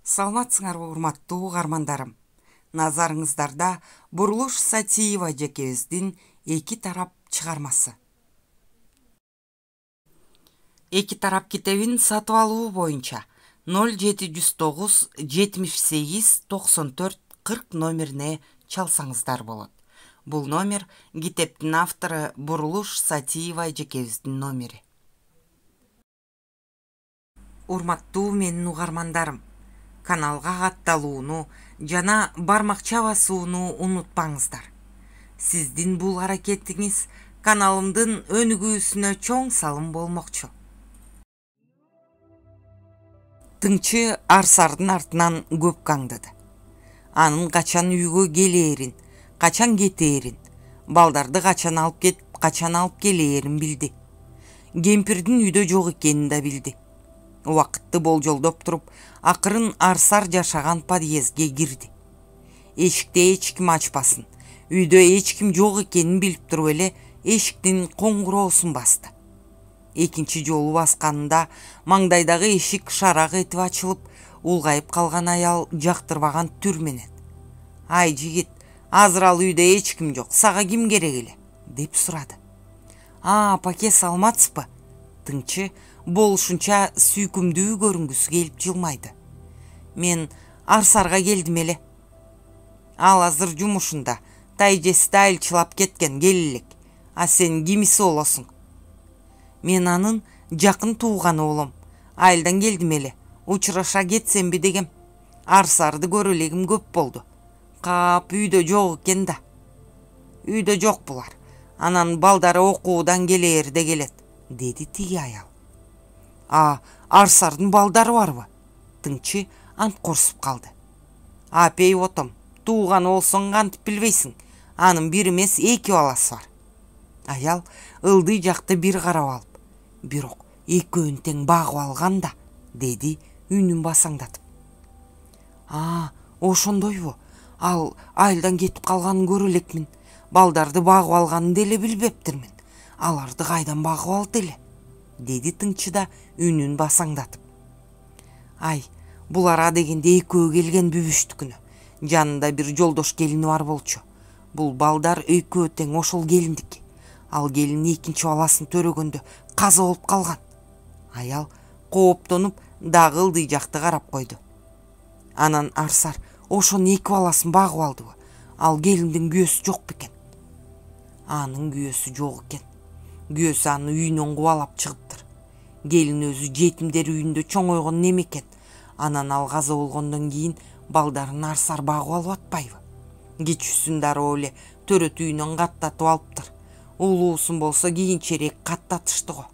Саламатсыңарбы урматтуу угармандарым. Назарыңыздарда Бурулуш Сатиева эжекебиздин эки тарап чыгармасы. Эки тарап китебин сатып алуу боюнча 0709 78 94 40 номерине чалсаңыздар болот. Бул номер китептин автору Бурулуш Сатиева эжекебиздин номери. Урматтуу менин угармандарым, каналга катталууну жана бармакча басууну унутпаңыздар. Сиздин бул аракетиңиз каналымдын өнүгүүсүнө чоң салым болмокчу. Тыңчы Арсардын артынан көп каңдыды. Анын качан үйгө келээрин, качан кетээрин, балдарды качан алып кетип, качан алып келээрин билди. Кемпирдин үйдө жок экенин да билди. Убакытты болжолдоп туруп, акырын Арсар жашаган подъездге кирди. Эшикти эч ким ачпасын, үйдө эч ким жок экенин билип туруп эле эшиктин коңгуроосун басты. Экинчи жолу басканында маңдайдагы эшик шарак этип ачылып, улгайып калган аял жактырбаган түр менен: "Ай жигит, азыр ал үйдө эч ким жок, сага ким керек эле?" деп сурады. Паке, саламатсызбы?" Тыңчы болушунча сүйкүмдүү көрүнгүсү келип жылмайды. "Мен Арсарга келдим эле. Ал азыр жумушунда, тайжеси да айылчылап кеткен, келелек. А сен кимиси болосуң?" "Мен анын жакын тууганы болом. Айылдан келдим эле. Учураша кетсемби дегем. Арсарды көрө элегим көп болду. Кап үйдө жок экен да." "Үйдө жок булар. Анан балдары окуудан келээрде келет", деди тиги аял. Арсардын балдары барбы?" Тыңчы анткорсуп калды. "Апей отом, тууганы болсоң кантип билбейсиң? Анын бир эмес эки баласы бар." Аял ылдый жакты бир карап алып: "Бирок экөөнү тең багып алган да", деди үнүн басаңдатып. Ошондойбу? Ал айылдан кетип калганын көрө элекмин. Балдарды багып алганын деле билбептирмин. Аларды кайдан багып алды эле?" деди тыңчы да үнүн басаңдатып. Булар а дегенде экөө келген бүбүштүкүнө. Жанында бир жолдош келини бар болчу. Бул балдар экөө тең ошол келиндики. Ал келин экинчи баласын төрөгөндө каза болуп калган. Аял кооптонуп дагы ылдый жакты карап койду. "Анан Арсар ошонун эки баласын багып алдыбы? Ал келиндин күйөөсү жок бекен?" "Анын күйөөсү жок экен. Күйөөсү аны үйүнөн кубалап чыгыптыр. Келин өзү жетимдер үйүндө чоңойгон неме экен. Анан ал каза болгондон кийин балдарын Арсар багып алып атпайбы? Кичүүсүн дароо эле төрөт үйүнөн каттатып алыптыр. Улуусун болсо кийинчерээк каттатышты го.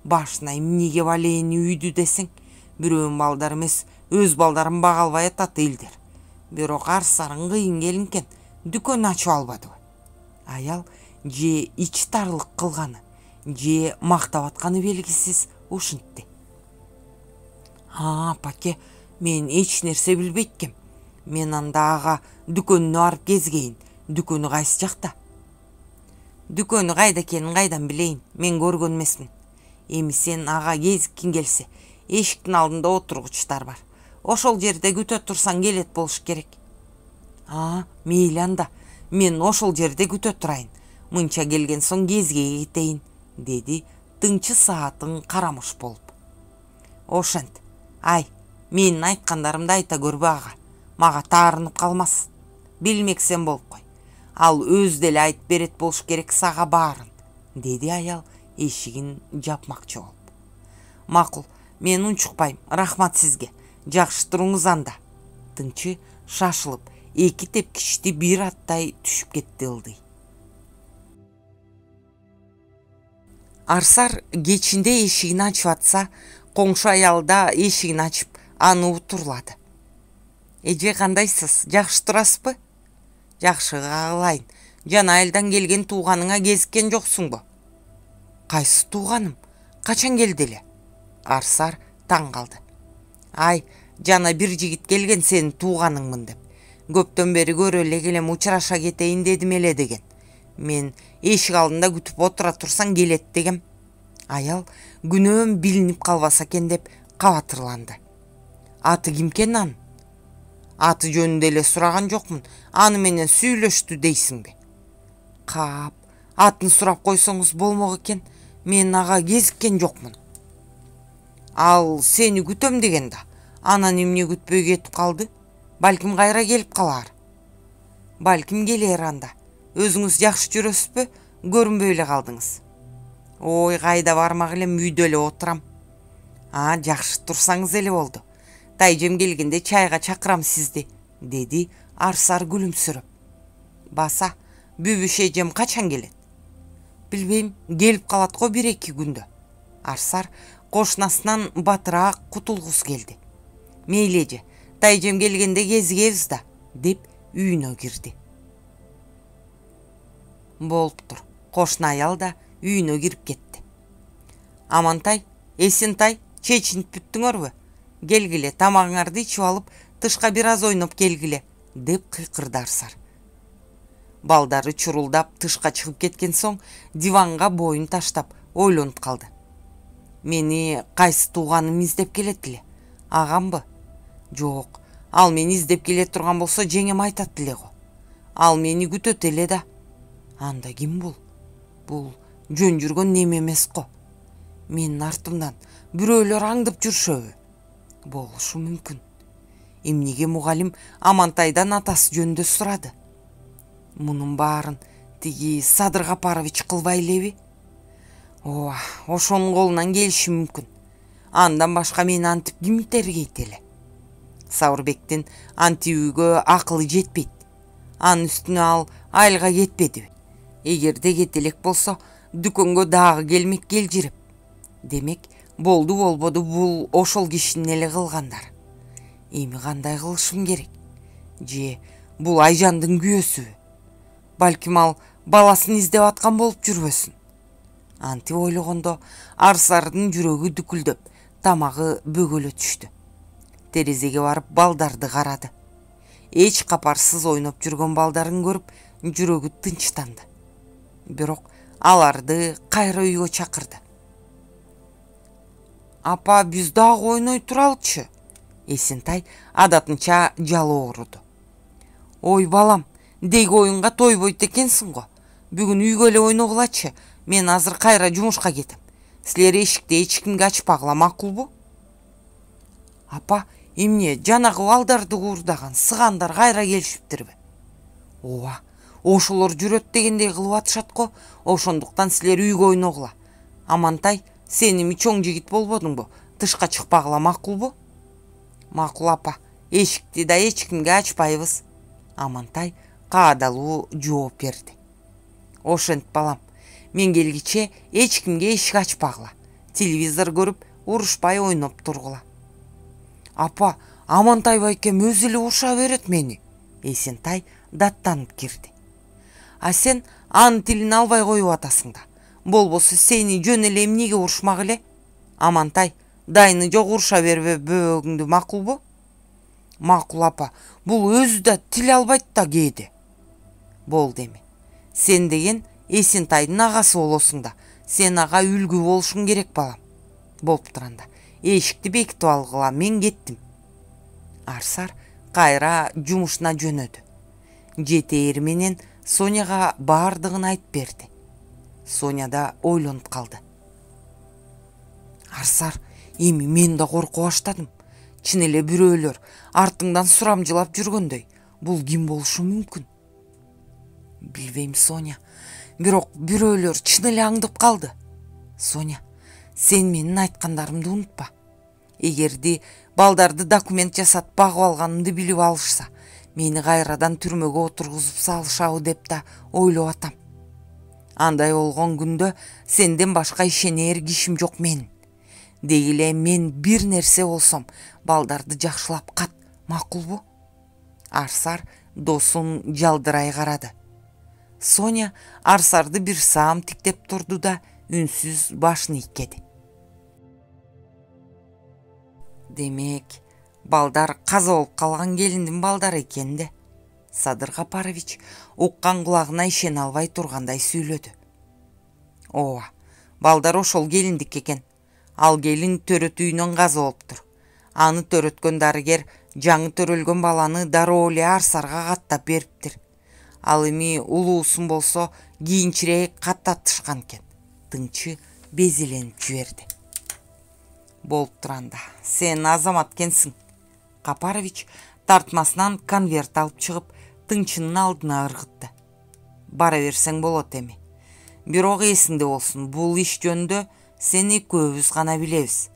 Башына эмнеге балээни үйдү десең, бирөөнүн балдары эмес, өз балдарын бага албай атат элдер. Бирок Арсарың кыйын келин экен, дүкөн ачып албадыбы?" Аял же ич тарлык кылганы, же мактап атканы белгисиз ушинтти. "Паке, мен эч нерсе билбейт экем. Мен анда ага дүкөнүнө барып кезгейин. Дүкөнү кайсы жакта?" "Дүкөнү кайда экенин кайдан билейин? Мен көргөн эмесмин. Эми сен ага кезиккиң келсе, эшиктин алдында отургучтар бар. Ошол жерде күтө турсаң келет болуш керек." Мейли анда. Мен ошол жерде күтө турайын. Мынча келген соң кезгеге кетейин", деди тыңчы саатын карамыш болуп. "Ошент. Менин айткандарымды айта көрбө ага. Мага таарынып калмас. Билмексен болуп кой. Ал өзү деле айтып берет болуш керек сага баарын", деди аял эшигин жапмакчы болуп. "Макул, мен унчукпайм. Рахмат сизге. Жакшы туруңуз анда." Тыңчы шашылып, эки тепкичти бир аттай түшүп кетти ылдый. Арсар кечинде эшигин ачып атса, коңшу аял да эшигин ачып, аны утурлады. "Эже, кандайсыз? Жакшы турасызбы?" "Жакшы кагылайын. Жана айылдан келген тууганыңа кезиккен жоксуңбу?" "Кайсы тууганым? Качан келди эле?" Арсар таң калды. Жана бир жигит келген сенин тууганыңмын деп. Көптөн бери көрө эле келем, учураша кетейин дедим эле деген. Мен эшик алдында күтүп отура турсаң келет дегем. Аял күнөөм билинип калбаса экен деп кабатырланды. Аты кимкен анын? Аты жөнүндө эле сураган жокмун. Аны менен сүйлөштү дейсиңби? Кап, атын сурап койсоңуз болмок экен. Мен ага кезиккен жокмун. Ал сени күтөм деген да. Анан эмне күтпөй кетип калды? Балким кайра келип калар. Балким келер анда. Өзүңүз жакшы жүрөсүзбү? Көрүнбөй эле калдыңыз. Ой, кайда бармак элем, үйдө эле отурам. Жакшы турсаңыз эле болду. Тайжем келгенде чайга чакырам сизди, деди Арсар күлүмсүрөп. Баса, Бүбүш эжем качан келет? Билбейм, келип калат го 1-2 күндө. Арсар кошунасынан батыраак кутулгусу келди. Мейли эже, тайжем келгенде кезигебиз да, деп үйүнө кирди. Болуптур. Кошуна аял да үйүнө кирип кетти. Амантай, Эсентай, чечинип бүттүңөрбү? Келгиле, тамагыңарды ичип алып, тышка бир аз ойноп келгиле, деп кыйкырды Арсар. Балдары чурулдап тышка чыгып кеткен соң, диванга боюн таштап ойлонуп калды. Мени кайсы тууганым издеп келет эле? Агамбы? Жок, ал мени издеп келе турган болсо жеңем айтат эле го. Ал мени күтөт эле да. Анда ким бул? Бул жөн жүргөн неме эмес го. Менин артымдан бирөөлөр аңдып жүршөбү? Болушу мүмкүн. Эмнеге мугалим Амантайдан атасы жөнүндө сурады? Мунун баарын тиги Садыр Капарович кылбай элеби? Ооба, ошонун колунан келиши мүмкүн. Андан башка мени антип ким тергейт эле? Сабырбектин антибүүгө акылы жетпейт. Анын үстүнө ал айылга кетпедиби? Эгерде кете элек болсо, дүкөнгө дагы келмек келжирип. Демек, болду болбоду бул ошол кишинин эле кылгандар. Эми кандай кылышым керек? Же бул Айжандын күйөөсүбү? Балким ал баласын издеп аткан болуп жүрбөсүн? Антип ойлогондо Арсардын жүрөгү дүкүлдөп, тамагы бөгөлө түштү. Терезеге барып балдарды карады. Эч капарсыз ойноп жүргөн балдарын көрүп, жүрөгү тынчтанды. Бирок аларды кайра үйгө чакырды. Апа, биз дагы ойной туралычы? Эсентай адатынча жалоо уруду. Ой балам, деги оюнга тойбойт экенсиң го. Бүгүн үйгө эле ойногулачы. Мен азыр кайра жумушка кетем. Силер эшикти эч кимге ачпагыла, макулбу? Апа, эмне жанагы балдарды куурдаган сыгандар кайра келишиптирби? Ооба, ошолор жүрөт дегендей кылып атышат го. Ошондуктан силер үйгө ойногула. Амантай, сен эми чоң жигит болбодуңбу? Тышка чыкпагыла, макулбу? Макул апа, эшикти да эч кимге ачпайбыз. Амантай каадалуу жооп берди. Ошентип балам, мен келгиче эч кимге эшик ачпагыла. Телевизор көрүп, урушпай ойноп тургула. Апа, Амантай байкем өзү эле уруша берет мени. Эсентай даттанып кирди. А сен анын тилин албай коюп атасың да. Болбосо сени жөн эле эмнеге урушмак эле? Амантай, дайыны жок уруша бербе бөбөгүңдү, макулбу? Макул апа, бул өзү да тил албайт да кээде. Болду эми. Сен деген Эсентайдын агасы болосуң да. Сен ага үлгү болушуң керек балам. Болуптур анда. Эшикти бекитип алгыла, мен кеттим. Арсар кайра жумушуна жөнөдү. Жетээри менен Соняга баардыгын айтып берди. Соня да ойлонуп калды. Арсар, эми мен да коркуп баштадым. Чын эле бирөөлөр артыңдан сурамжылап жүргөндөй. Бул ким болушу мүмкүн? Билбейм, Соня. Бирок бирөөлөр чын эле аңдып калды. Соня, сен менин айткандарымды унутпа. Эгерди балдарды документ жасатып багып алганымды билип алышса, мени кайрадан түрмөгө отургузуп салышабы деп да ойлоп атам. Андай болгон күндө сенден башка ишенер кишим жок менин. Деги эле мен бир нерсе болсом, балдарды жакшылап кат, макулбу? Арсар досун жалдырай карады. Соня Арсарды бир саам тиктеп турду да үнсүз башын ийкеди. Демек, балдар каза болуп калган келиндин балдары экен да. Садыр Капарович уккан кулагына ишене албай тургандай сүйлөдү. Ооба, балдар ошол келиндик экен. Ал келин төрөт үйүнөн каза болуптур. Аны төрөткөн дарыгер жаңы төрөлгөн баланы дароо эле Арсарга каттап бериптир. Ал эми улуусун болсо кийинчерээк каттатышкан экен. Тыңчы безеленип жиберди. Болуп турганда, сен азамат экенсиң. Капарович тартмасынан конверт алып чыгып, Тыңчынын алдына ыргытты. Бара берсең болот эми. Бирок эсиңде болсун, бул иш жөнүндө сен экөөбүз гана билебиз.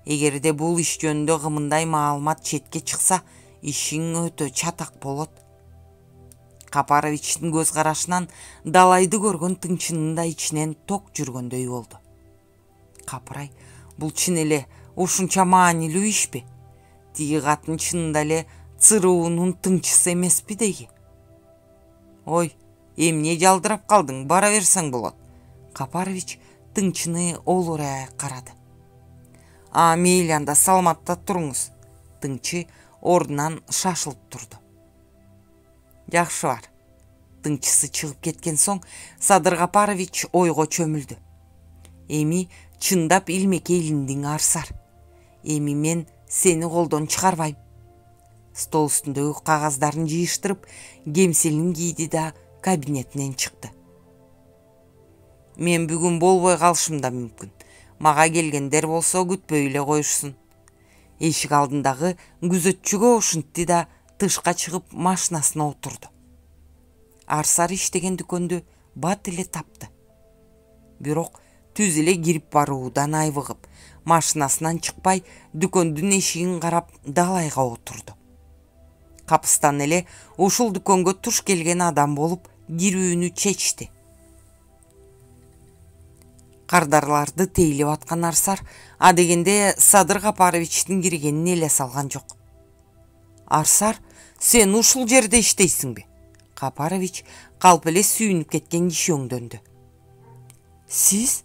Эгерде бул иш жөнүндө кымындай маалымат четке чыкса, ишиң өтө чатак болот. Капаровичтин көз карашынан далайды көргөн Тыңчынын да ичинен ток жүргөндөй болду. Капырай, бул чын эле ушунча маанилүү ишпи? Тиги катын чынында эле цыруунун тыңчысы эмеспи деги? Ой, эмне жалдырап калдың, бара берсең болот. Капарович Тыңчыны олурай карады. Мейли анда, саламатта туруңуз. Тыңчы ордунан шашылып турду. Жакшы бар. Тыңчысы чыгып кеткен соң Садыр Капарович ойго чөмүлдү. Эми чындап илмекке илиндиң, Арсар. Эми мен сени колдон чыгарбайм. Стол үстүндөгү кагаздарын жыйыштырып, кемселин кийди да кабинетинен чыкты. Мен бүгүн болбой калышым да мүмкүн. Мага келгендер болсо күтпөй эле коюшсун. Эшик алдындагы күзөтчүгө ушинтти да тышка чыгып машинасына отурду. Арсар иштеген дүкөндү бат эле тапты. Бирок түз эле кирип баруудан айбыгып, машинасынан чыкпай, дүкөндүн эшигин карап далайга отурду. Капыстан эле ушул дүкөнгө туш келген адам болуп кирүүнү чечти. Кардарларды тейлеп аткан Арсар адегенде Садыр Капаровичтин киргенин эле салган жок. Арсар, сен ушул жерде иштейсиңби? Капарович калп эле сүйүнүп кеткен киши өңдөндү. Сиз?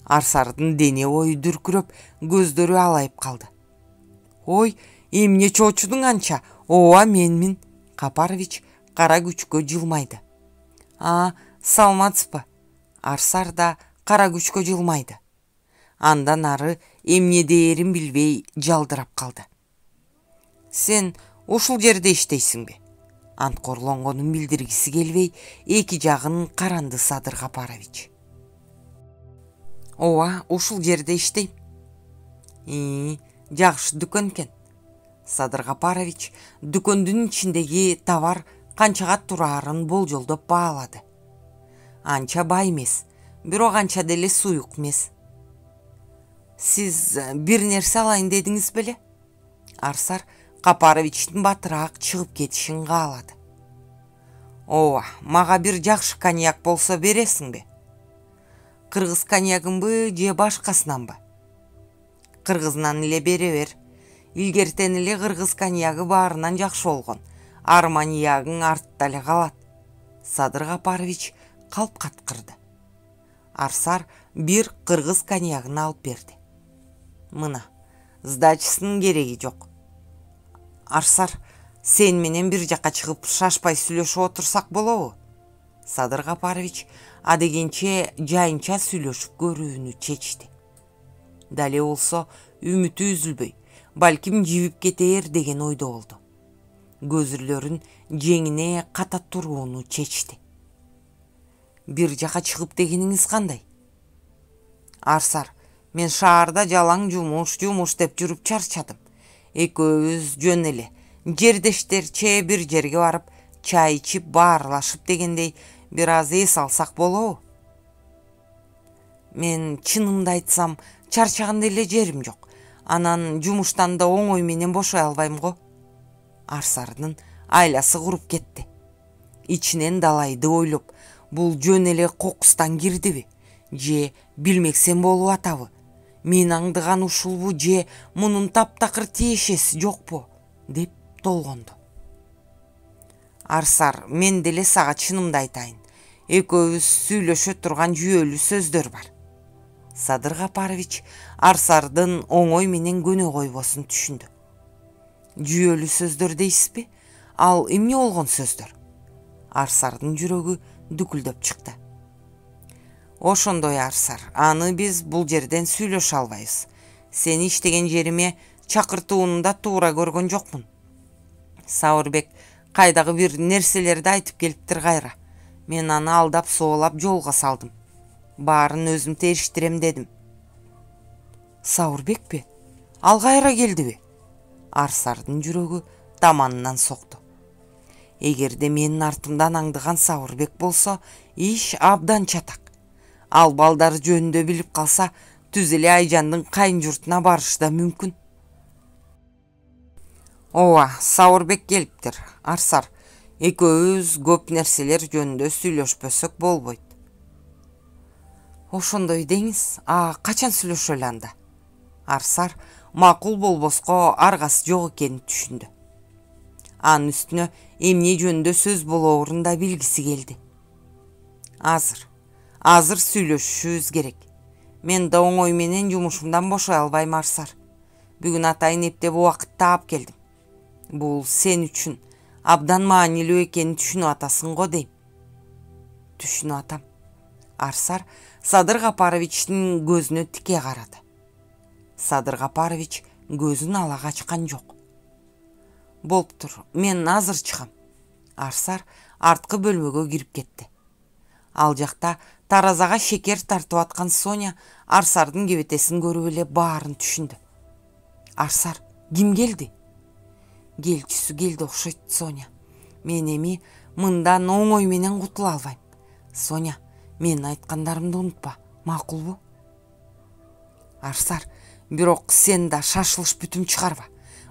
Арсардын дене бою дүркүрөп, көздөрү алайып калды. Ой, эмне чоочудуң анча? Ооба, менмин. Капарович кара күчкө жылмайды. Саламатсызбы? Арсар да кара күчкө жылмайды. Андан ары эмне дээрин билбей жалдырап калды. Сен ушул жерде иштейсиңби? Анткорлонгонун билдиргиси келбей, эки жагын каранды Садыр Капарович. Ооба, ушул жерде иштейм. Жакшы дүкөн экен. Садыр Капарович дүкөндүн ичиндеги товар канчага турарын болжолдоп баалады. Анча бай эмес, бирок анча деле суюк эмес. Сиз бир нерсе алайын дедиңиз беле? Арсар Капаровичтин батыраак чыгып кетишин каалады. Ооба, мага бир жакшы коньяк болсо бересиңби? Кыргыз коньягынбы же башкасынанбы? Кыргызынан эле бере бер. Илгертен эле кыргыз коньягы баарынан жакшы болгон. Арманиягың артта эле калат. Садыр Капарович калп каткырды. Арсар бир кыргыз коньягын алып берди. Мына, сдачысынын кереги жок. Арсар, сен менен бир жакка чыгып шашпай сүйлөшүп отурсак болобу? Садыр Капарович адегенче жайынча сүйлөшүп көрүүнү чечти. Дале болсо үмүтү үзүлбөй, балким жибип кетээр деген ойдо болду. Көзүрлөрүн жеңине ката турууну чечти. Бир жака чыгып дегениңиз кандай? Арсар, мен шаарда жалаң жумуш деп жүрүп чарчадым. Экөөбүз жөн эле жердештерче бир жерге барып, чай ичип баарлашып дегендей бир аз эс алсак болобу? Мен чынымды айтсам, чарчаган деле жерим жок. Анан жумуштан да оңой менен бошой албайм го. Арсардын айласы куруп кетти. Ичинен далайды ойлоп, бул жөн эле кокустан кирдиби? Же билмексем болуп атабы? Мен аңдыган ушулбу же мунун таптакыр тиешеси жокпу? Деп толгонду. Арсар, мен деле сага чынымды айтайын. Экөөбүз сүйлөшө турган жүйөлүү сөздөр бар. Садыр Капарович Арсардын оңой менен көнө койбосун түшүндү. Жүйөлүү сөздөр дейсизби? Ал эмне болгон сөздөр? Арсардын жүрөгү дүкүлдөп чыкты. Ошондой, Арсар, аны биз бул жерден сүйлөшө албайбыз. Сени иштеген жериме чакыртууну да туура көргөн жокмун. Сауырбек кайдагы бир нерселерди айтып келиптир кайра. Мен аны алдап соолап жолго салдым. Баарын өзүм териштирем дедим. Сауырбекпи? Ал кайра келдиби? Арсардын жүрөгү таманынан сокту. Эгерде менин артымдан аңдыган Сауырбек болсо, иш абдан чатак. Ал балдар жөнүндө билип калса, түз эле Айжандын кайын журтуна барышы да мүмкүн. Ооба, Сауырбек келиптир. Арсар, экөөбүз көп нерселер жөнүндө сүйлөшпөсөк болбойт. Ошондой деңиз. Качан сүйлөшөлү анда? Арсар макул болбоско аргасы жок экенин түшүндү. Анын үстүнө эмне жөнүндө сөз болоорун да билгиси келди. Азыр сүйлөшүшүбүз керек. Мен да оңой менен жумушумдан бошой албайм, Арсар. Бүгүн атайын эптеп убакыт таап келдим. Бул сен үчүн абдан маанилүү экенин түшүнүп атасың го дейм. Түшүнүп атам. Арсар Садыр Капаровичтин көзүнө тике карады. Садыр Капарович көзүн ала качкан жок. Болуптур, мен азыр чыгам. Арсар арткы бөлмөгө кирип кетти. Ал жакта таразага шекер тартып аткан Соня Арсардын кебетесин көрүп эле баарын түшүндү. Арсар, ким келди? Келчүсү келди окшойт, Соня. Мен эми мындан оңой менен кутула албайм. Соня, менин айткандарымды унутпа, макулбу? Арсар, бирок сен да шашылыш бүтүм чыгарба.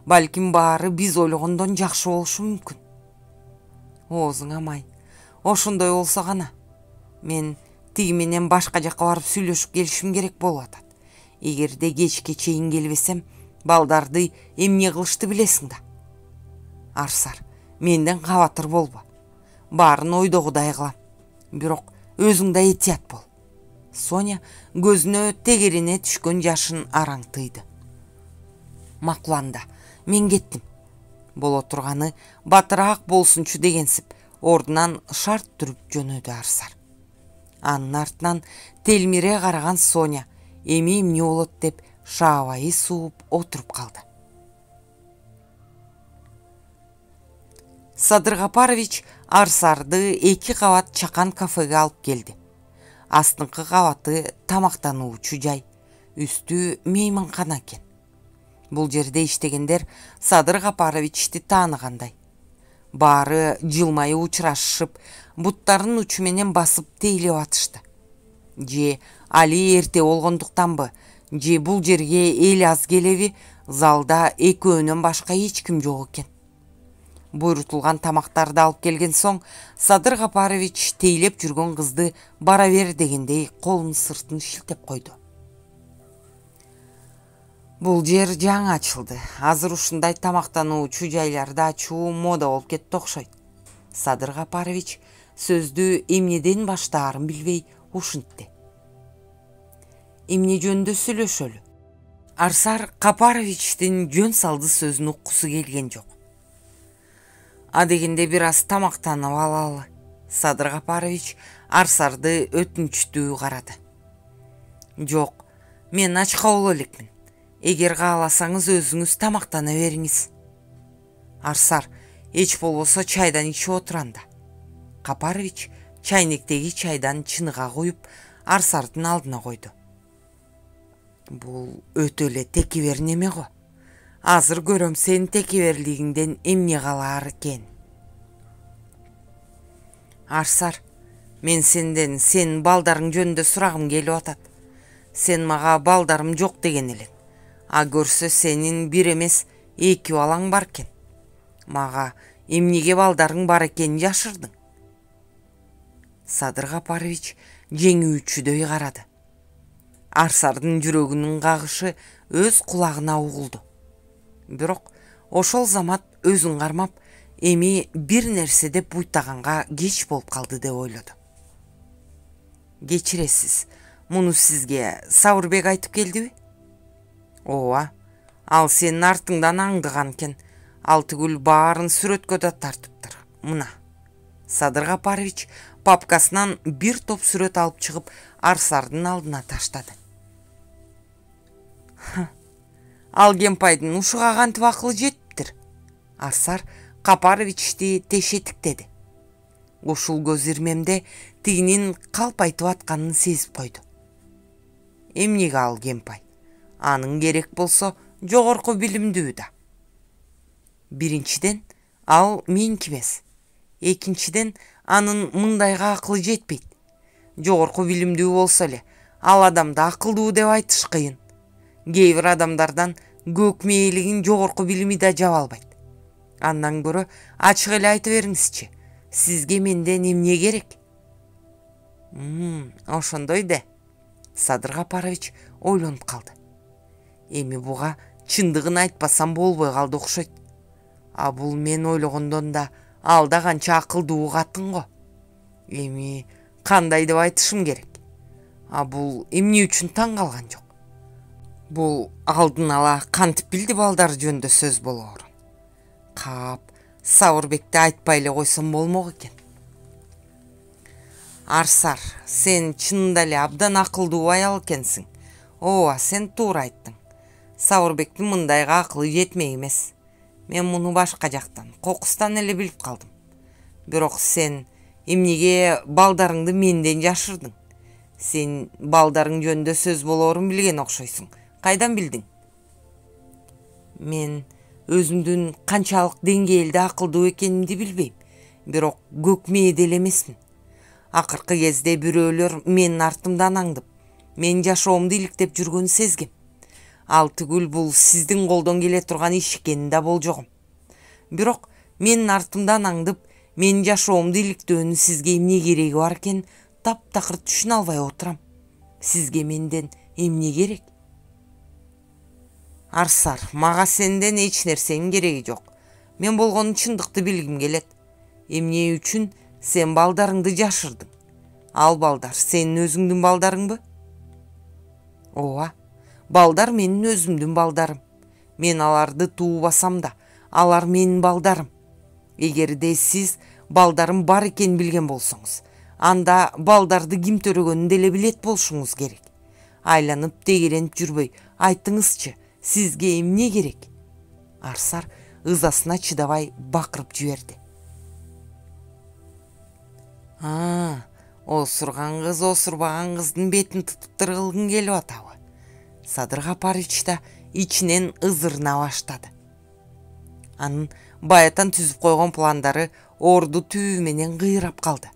Балким баары биз ойлогондон жакшы болушу мүмкүн. Оозуңа май. Ошондой болсо гана. Мен тиги менен башка жака барып сүйлөшүп келишим керек болуп атат. Эгерде кечке чейин келбесем, балдарды эмне кылышты билесиң да. Арсар, менден кабатыр болбо. Баарын ойдогудай кылам. Бирок өзүң да этият бол. Соня көзүнө тегерине түшкөн жашын араңтыйды. Макул анда, мен кеттим. Боло турганы батыраак болсунчу дегенсип, ордунан шарт туруп жөнөдү Арсар. Анын артынан телмире караган Соня эми эмне болот деп шаабайы сууп отуруп калды. Садыр Капарович Арсарды 2 кабат чакан кафеге алып келди. Астыңкы кабаты тамактануучу жай, үстү мейманкана экен. Бул жерде иштегендер Садыр Капаровичти тааныгандай. Баары жылмайы учурашышып, буттарын учу менен басып тейлеп атышты. Же али эрте болгондуктанбы, же бул жерге эл аз келеби, залда экөөнөн башка эч ким жок экен. Буйрутулган тамактарды алып келген соң, Садыр Капарович тейлеп жүргөн кызды бара бер дегендей колунун сыртын шилтеп койду. Бул жер жаңы ачылды. Азыр ушундай тамактануучу жайларды ачуу мода болуп кетти окшойт. Садыр Капарович сөздү эмнеден баштаарын билбей ушинтти. Эмне жөнүндө сүйлөшөлү? Арсар Капаровичтин жөн салды сөзүн уккусу келген жок. Дегенде бир аз тамактанып алалы. Садыр Капарович Арсарды өтүнчтүү карады. Жок, мен ачка боло элекмин. Эгер кааласаңыз өзүңүз тамактана бериңиз. Арсар, эч болбосо чайдан ичип отур анда. Капарович чайнектеги чайдан чыныга куюп Арсардын алдына койду. Бул өтө эле текебер неме го. Азыр көрөм сенин текеберлигиңден эмне калаар экен. Арсар, мен сенден сенин балдарың жөнүндө сурагым келип атат. Сен мага балдарым жок деген элең. Көрсө сенин бир эмес 2 балаң бар экен. Мага эмнеге балдарың бар экенин жашырдың? Садыр Капарович жеңүүчүдөй карады. Арсардын жүрөгүнүн кагышы өз кулагына угулду. Бирок ошол замат өзүн кармап, эми бир нерсе деп буйтаганга кеч болуп калды деп ойлоду. Кечиресиз, муну сизге Сауырбек айтып келдиби? Ооба, ал сенин артыңдан аңдыган экен. Ал түгүл баарын сүрөткө да тартыптыр. Мына. Садыр Капарович папкасынан бир топ сүрөт алып чыгып Арсардын алдына таштады. Ал Кемпайдын ушуга кантип акылы жетиптир? Арсар Капаровичти тешетиктеди. Ушул көз ирмемде тигинин калп айтып атканын сезип койду. Эмнеге ал Кемпай? Анын керек болсо жогорку билимдүү да. Биринчиден, ал меники эмес. Экинчиден, анын мындайга акылы жетпейт. Жогорку билимдүү болсо эле, ал адамды акылдуу деп айтыш кыйын. Кээ бир адамдардан көк мээлигин жогорку билими да жаба албайт. Андан көрө ачык эле айта бериңизчи. Сизге менден эмне керек? Ошондой да. Садыр Капарович ойлонуп калды. Эми буга чындыгын айтпасам болбой калды окшойт. А бул мен ойлогондон да ал да канча акылдуу катын го. Эми кандай деп айтышым керек? А бул эмне үчүн таң калган жок? Бул алдын ала кантип билди балдар жөнүндө сөз болоорун? Кап, Сабырбекти айтпай эле койсом болмок экен. Арсар, сен чынында эле абдан акылдуу аял экенсиң. Ооба, сен туура айттың. Сабырбектин мындайга акылы жетмек эмес. Мен муну башка жактан, кокустан эле билип калдым. Бирок сен эмнеге балдарыңды менден жашырдың? Сен балдарың жөнүндө сөз болоорун билген окшойсуң. Кайдан билдиң? Мен өзүмдүн канчалык деңгээлде акылдуу экенимди билбейм. Бирок көк мээде эле эмесмин. Акыркы кезде бирөөлөр менин артымдан аңдып, мен жашоомду иликтеп жүргөнүн сезгем. Ал түгүл бул сиздин колдон келе турган иш экенин да болжогом. Бирок менин артымдан аңдып, менин жашоомду иликтөөнүн сизге эмне кереги бар экенин таптакыр түшүнө албай отурам. Сизге менден эмне керек? Арсар, мага сенден эч нерсенин кереги жок. Мен болгону чындыкты билгим келет. Эмне үчүн сен балдарыңды жашырдың? Ал балдар сенин өзүңдүн балдарыңбы? Ооба, балдар менин өзүмдүн балдарым. Мен аларды туубасам да, алар менин балдарым. Эгерде сиз балдарым бар экенин билген болсоңуз, анда балдарды ким төрөгөнүн деле билет болушуңуз керек. Айланып дегеренип жүрбөй, айтыңызчы, сизге эмне керек? Арсар ызасына чыдабай бакырып жиберди. Осурган кыз осурбаган кыздын бетин тутуптыр кылгың келип атабы? Садыр Капарович да ичинен ызырына баштады. Анын баятан түзүп койгон пландары орду түбү менен кыйрап калды.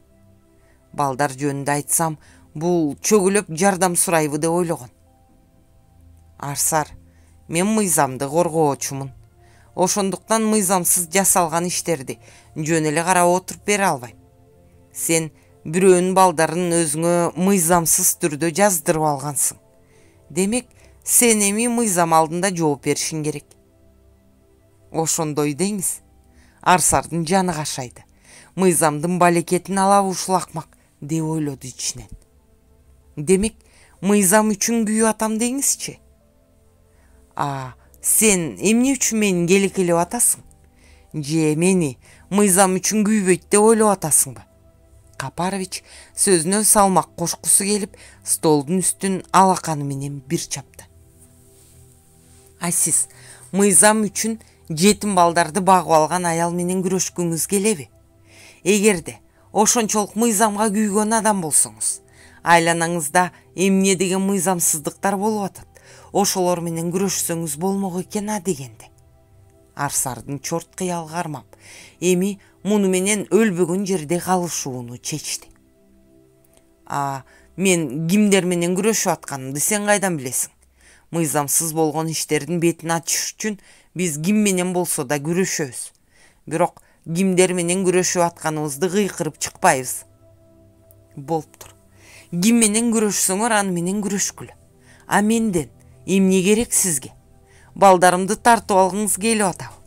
Балдар жөнүндө айтсам, бул чөгүлөп жардам сурайбы деп ойлогон. Арсар, мен мыйзамды коргоочумун. Ошондуктан мыйзамсыз жасалган иштерди жөн эле карап отуруп бере албайм. Сен бирөөнүн балдарын өзүңө мыйзамсыз түрдө жаздырып алгансың. Демек, сен эми мыйзам алдында жооп беришиң керек. Ошондой деңиз. Арсардын жаны кашайды. Мыйзамдын балекетин алабы ушул акмак деп ойлоду ичинен. Демек, мыйзам үчүн күйүп атам деңизчи. Сен эмне үчүн мени келекелеп атасың? Же мени мыйзам үчүн күйбөйт деп ойлоп атасыңбы? Капарович сөзүнө салмак кошкусу келип, столдун үстүн алаканы менен бир чапты. Сиз мыйзам үчүн жетим балдарды багып алган аял менен күрөшкүңүз келеби? Эгерде ошончолук мыйзамга күйгөн адам болсоңуз, айланаңызда эмне деген мыйзамсыздыктар болуп атат, ошолор менен күрөшсөңүз болмок экен дегенде. Арсардын чорт кыялы кармап, эми муну менен өлбөгөн жерде калышууну чечти. Мен кимдер менен күрөшүп атканымды сен кайдан билесиң? Мыйзамсыз болгон иштердин бетин ачыш үчүн биз ким менен болсо да күрөшөбүз. Бирок кимдер менен күрөшүп атканыбызды кыйкырып чыкпайбыз. Болуптур. Ким менен күрөшсөңөр аны менен күрөшкүлө. Менден эмне керек сизге? Балдарымды тартып алгыңыз келип атабы?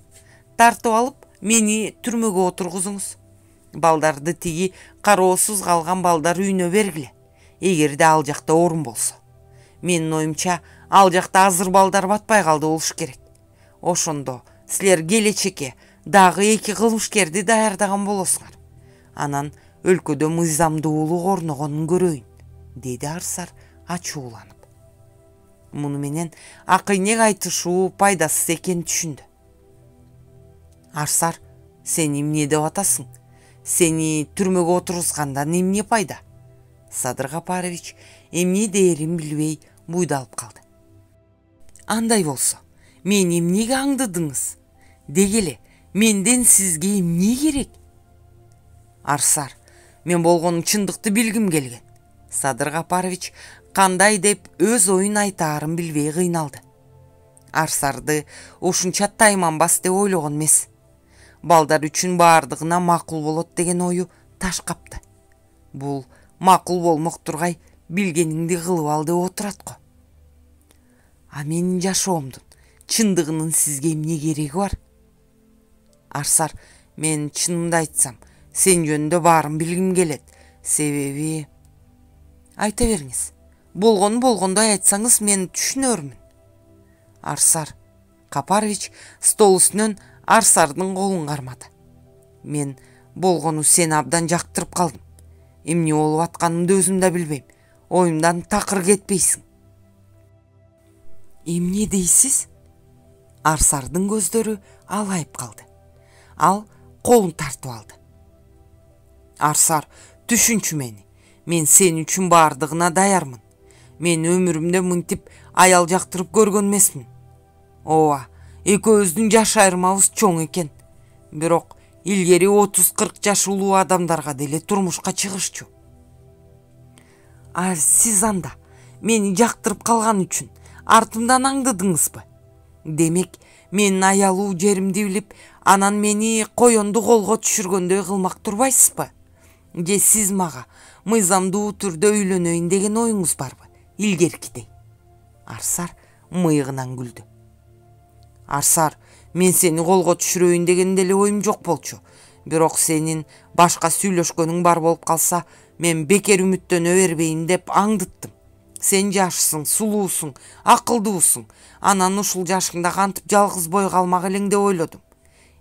Тартып алып, мени түрмөгө отургузуңуз. Балдарды тиги кароосуз калган балдар үйүнө бергиле. Эгерде ал жакта орун болсо. Менин оюмча, ал жакта азыр балдар батпай калды болуш керек. Ошондо силер келечекке дагы 2 кылмышкерди даярдаган болосуңар. Анан өлкөдө мыйзамдуулук орногонун көрөйүн, деди Арсар ачууланып. Муну менен акыйнек айтышуу пайдасыз экенин түшүндү. Арсар, сен эмне деп атасың? Сени түрмөгө отургузгандан эмне пайда? Садыр Капарович эмне дээрин билбей буйдалып калды. Андай болсо, мен эмнеге аңдыдыңыз? Дегеле, менден сизге эмне керек? Арсар, мен болгону чындыкты билгим келген. Садыр Капарович кандай деп өз оюн айтаарын билбей кыйналды. Арсарды ушунча тайманбас деп ойлогон эмес. Балдар үчүн баардыгына макул болот деген ою таш капты. Бул макул болмок тургай, билгениңди кылып ал деп отурат го. А менин жашоомдун чындыгынын сизге эмне кереги бар? Арсар, мен чынымды айтсам, сен жөнүндө баарын билгим келет. Себеби... Айта бериңиз. Болгону болгондой айтсаңыз, мен түшүнөрмүн. Арсар, Капарович стол үстүнөн Арсардын колун кармады. Мен болгону сени абдан жактырып калдым. Эмне болуп атканымды өзүм да билбейм. Оюмдан такыр кетпейсиң. Эмне дейсиз? Арсардын көздөрү алайып калды. Ал колун тартып алды. Арсар, түшүнчү мени. Мен сен үчүн баардыгына даярмын. Мен өмүрүмдө мынтип аял жактырып көргөн эмесмин. Ооба, экөөбүздүн жаш айырмабыз чоң экен. Бирок илгери 30-40 жаш улуу адамдарга деле турмушка чыгышчу. А сиз анда мени жактырып калган үчүн артымдан аңдыдыңызбы? Демек, менин аялуу жеримди билип, анан мени коёнду колго түшүргөндөй кылмак турбайсызбы? Же сиз мага мыйзамдуу түрдө үйлөнөйүн деген оюңуз барбы? Илгеркидей. Арсар мыйыгынан күлдү. Арсар, мен сени колго түшүрөйүн деген деле оюм жок болчу. Бирок сенин башка сүйлөшкөнүң бар болуп калса, мен бекер үмүттөнө бербейин деп аңдыттым. Сен жашсың, сулуусуң, акылдуусуң. Анан ушул жашыңда кантип жалгыз бой калмак элең деп ойлодум.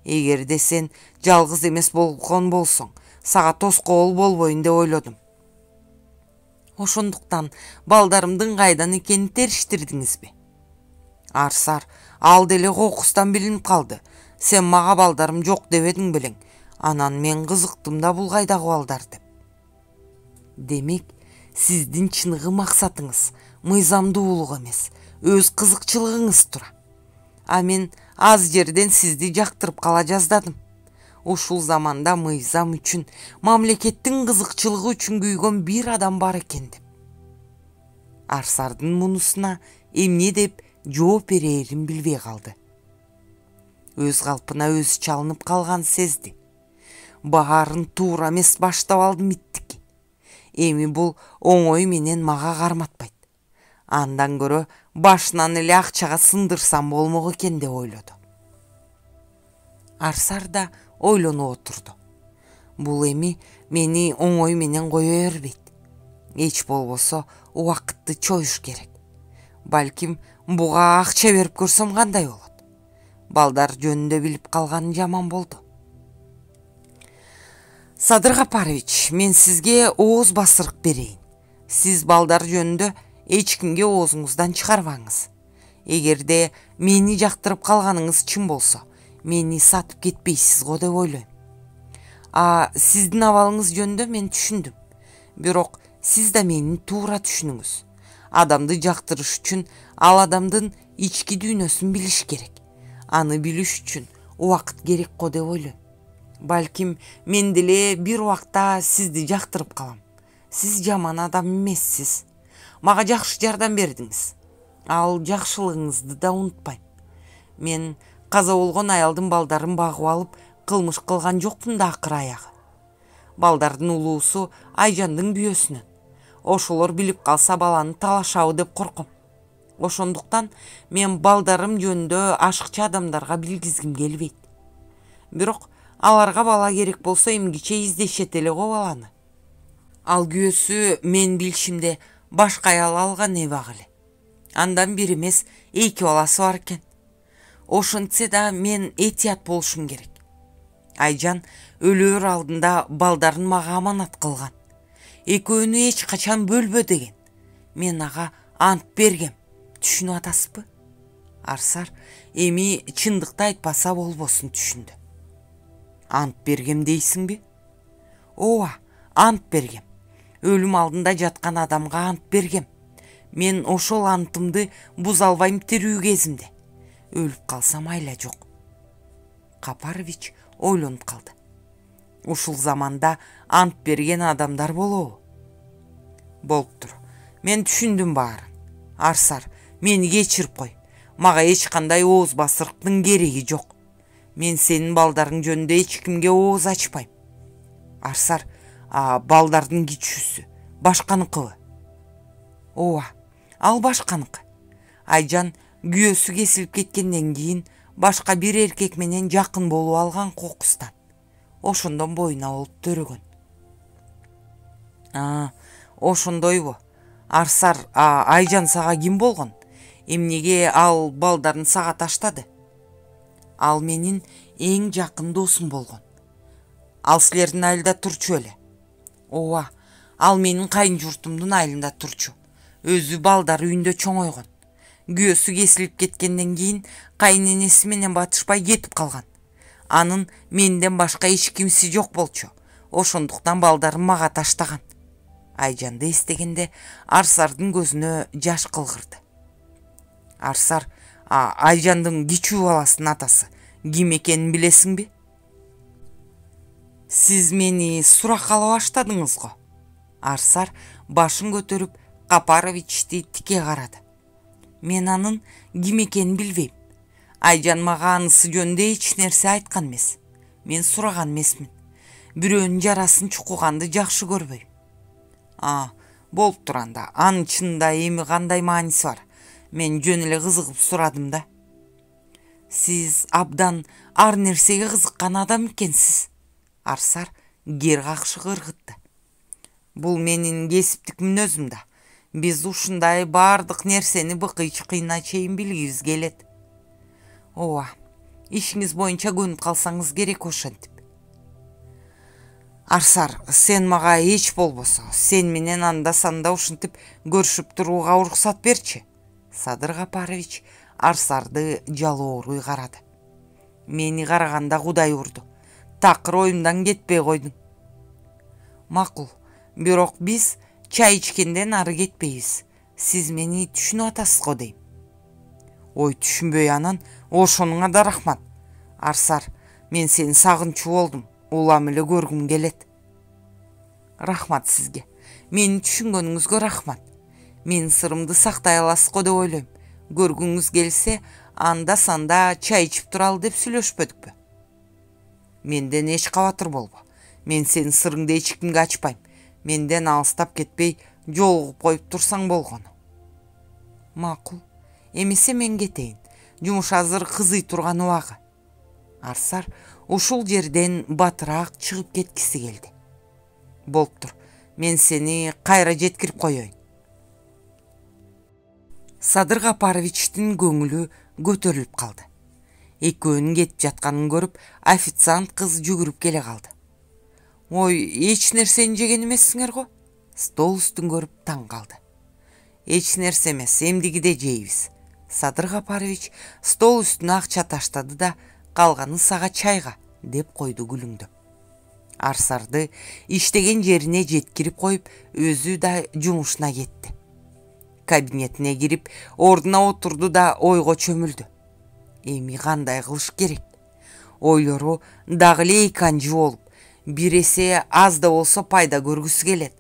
Эгерде сен жалгыз эмес болгон болсоң, сага тоскоол болбойн деп ойлодум. Ошондуктан балдарымдын кайдан экенин териштирдиңизби? Арсар, ал деле кокустан билинип калды. Сен мага балдарым жок дебедиң белең. Анан мен кызыктым да бул кайдагы балдар деп. Демек, сиздин чыныгы максатыңыз мыйзамдуулук эмес, өз кызыкчылыгыңыз тура. А мен аз жерден сизди жактырып кала жаздадым. Ушул заманда мыйзам үчүн, мамлекеттин кызыкчылыгы үчүн күйгөн бир адам бар экен деп. Арсардын мунусуна эмне деп жооп берерин билбей калды. Өз калпына өзү чалынып калган сезди. Баарын туура эмес баштап алдым иттики. Эми бул оңой менен мага карматпайт. Андан көрө башынан эле акчага сындырсам болмок экен деп ойлоду. Арсар да ойлонуп отурду. Бул эми мени оңой менен кое бербейт. Эч болбосо убакытты чоюш керек. Балким буга акча берип көрсөм кандай болот? Балдар жөнүндө билип калганы жаман болду. Садыр Капарович, мен сизге ооз басырык берейин. Сиз балдар жөнүндө эч кимге оозуңуздан чыгарбаңыз. Эгерде мени жактырып калганыңыз чын болсо, мени сатып кетпейсиз го деп ойлойм. А сиздин абалыңыз жөнүндө мен түшүндүм. Бирок сиз да мени туура түшүнүңүз. Адамды жактырыш үчүн ал адамдын ички дүйнөсүн билиш керек. Аны билиш үчүн убакыт керек го деп ойлойм. Балким мен деле бир убакта сизди жактырып калам. Сиз жаман адам эмессиз. Мага жакшы жардам бердиңиз. Ал жакшылыгыңызды да унутпайм. Мен каза болгон аялдын балдарын багып алып, кылмыш кылган жокмун да акыр аягы. Балдардын улуусу Айжандын бүйөсүнөн. Ошолор билип калса баланы талашабы деп корком. Ошондуктан мен балдарым жөнүндө ашыкча адамдарга билгизгим келбейт. Бирок аларга бала керек болсо эмгиче издешет эле го баланы. Ал күйөөсү мен билишимде башка аял алган эбак эле. Андан бир эмес 2 баласы бар экен. Ошентсе да мен этият болушум керек. Айжан өлөөр алдында балдарын мага аманат кылган. Экөөнү эч качан бөлбө деген. Мен ага ант бергем. түшүнүп атасызбы? Арсар эми чындыкты айтпаса болбосун түшүндү. Ант бергем дейсиңби? Ооба, ант бергем. Өлүм алдында жаткан адамга ант бергем. Мен ошол антымды буза албайм тирүү кезимде. Өлүп калсам айла жок. Капарович ойлонуп калды. Ушул заманда ант берген адамдар болобу? Болуптур. Мен түшүндүм баарын. Арсар, мени кечирип кой. Мага эч кандай ооз басырыктын кереги жок. Мен сенин балдарың жөнүндө эч кимге ооз ачпайм. Арсар, балдардын кичүүсү башканыкыбы? Ооба, ал башканыкы. Айжан күйөөсү кесилип кеткенден кийин башка бир эркек менен жакын болуп алган кокустан. Ошондон боюна болуп төрөгөн. Ошондойбу? Арсар, Айжан сага ким болгон? Эмнеге ал балдарын сага таштады? Ал менин эң жакын досум болгон. Ал силердин айылда турчу беле? Ооба, ал менин кайын журтумдун айылында турчу. Өзү балдар үйүндө чоңойгон. Күйөөсү кесилип кеткенден кийин кайын-энеси менен батышпай кетип калган. Анын менден башка эч кимиси жок болчу. Ошондуктан балдарын мага таштаган. Айжанды эстегенде Арсардын көзүнө жаш кылгырды. Арсар, Айжандын кичүү баласынын атасы ким экенин билесиңби? Сиз мени суракка ала баштадыңыз го. Арсар башын көтөрүп Капаровичти тике карады. Мен анын ким экенин билбейм. Айжан мага анысы жөнүндө эч нерсе айткан эмес. Мен сураган эмесмин. Бирөөнүн жарасын чукуганды жакшы көрбөйм. Болуптур анда. Анын чынында эми кандай мааниси бар? Мен жөн эле кызыгып сурадым да. Сиз абдан ар нерсеге кызыккан адам экенсиз. Арсар кер какшык ыргытты. Бул менин кесиптик мүнөзүм да. Биз ушундай баардык нерсени быкый-чыкыйына чейин билгибиз келет. Ооба, ишиңиз боюнча көнүп калсаңыз керек ошентип. Арсар, сен мага эч болбосо, сен менен анда-санда ушинтип көрүшүп турууга уруксат берчи. Садыр Капарович Арсарды жалооруй карады. Мени караганда Кудай урду. Такыр оюмдан кетпей койдуң. Макул, бирок биз чай ичкенден ары кетпейбиз. Сиз мени түшүнүп атасыз го дейм. Ой, түшүнбөй анан, ошонуңа да рахмат. Арсар, мен сени сагынчу болдум. Улам эле көргүм келет. Рахмат сизге. Мени түшүнгөнүңүзгө рахмат. Менин сырымды сактай аласыз го деп ойлойм. Көргүңүз келсе, анда-санда чай ичип туралы деп сүйлөшпөдүкпү? Менден эч кабатыр болбо. Мен сенин сырыңды эч кимге ачпайм. Менден алыстап кетпей, жолугуп коюп турсаң болгону. Макул. Эмесе мен кетейин. Жумуш азыр кызый турган убагы. Арсар ушул жерден батыраак чыгып кеткиси келди. Болуптур. Мен сени кайра жеткирип коеюн. Садыр Капаровичтин көңүлү көтөрүлүп калды. Экөөнүн кетип жатканын көрүп, официант кыз жүгүрүп келе калды. Ой, эч нерсени жеген эмессиңер го? Стол үстүн көрүп таң калды. Эч нерсе эмес, эмдигиде жейбиз. Садыр Капарович стол үстүнө акча таштады да, калганы сага чайга деп койду күлүңдөп. Арсарды иштеген жерине жеткирип коюп, өзү да жумушуна кетти. Кабинетине кирип, ордуна отурду да ойго чөмүлдү. Эми кандай кылыш керек? Ойлору дагы эле эканжы болуп, бир эсе аз да болсо пайда көргүсү келет.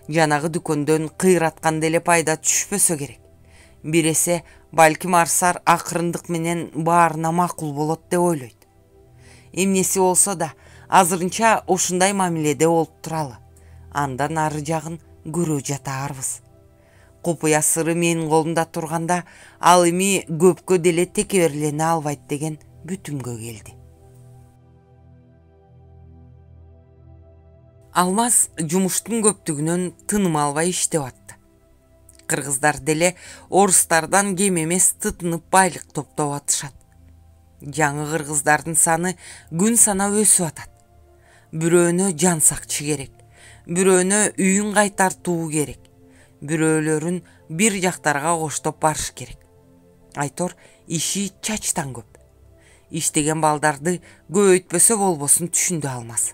Жанагы дүкөндөн кыйратканда эле пайда түшпөсө керек. Бир эсе балким Арсар акырындык менен баарына макул болот деп ойлойт. Эмнеси болсо да азырынча ушундай мамиледе болуп туралы. Андан ары жагын көрө жатаарбыз. Купуя сыры менин колумда турганда, ал эми көпкө деле текеберлене албайт деген бүтүмгө келди. Алмаз жумуштун көптүгүнөн тыным албай иштеп атты. Кыргыздар деле орустардан кем эмес тытынып байлык топтоп атышат. Жаңы кыргыздардын саны күн санап өсүп атат. Бирөөнө жан сакчы керек, бирөөнө үйүн кайтартуу керек, бирөөлөрүн бир жактарга коштоп барыш керек. Айтор иши чачтан көп. Иштеген балдарды көбөйтпөсө болбосун түшүндү Алмаз.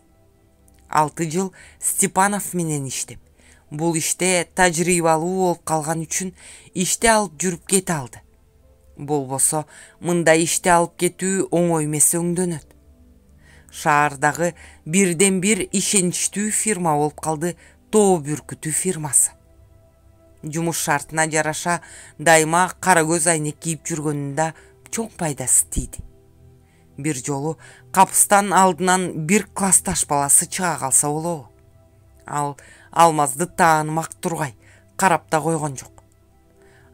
6 жыл Степанов менен иштеп, бул иште тажрыйбалуу болуп калган үчүн иште алып жүрүп кете алды. Болбосо мындай иште алып кетүү оңой эмес өңдөнөт. Шаардагы бирден бир ишеничтүү фирма болуп калды Тоо Бүркүтү фирмасы. Жумуш шартына жараша дайыма кара көз айнек кийип жүргөнүндө чоң пайдасы тийди. Бир жолу капыстан алдынан бир классташ баласы чыга калса болобу. Ал Алмазды таанымак тургай, карап да койгон жок.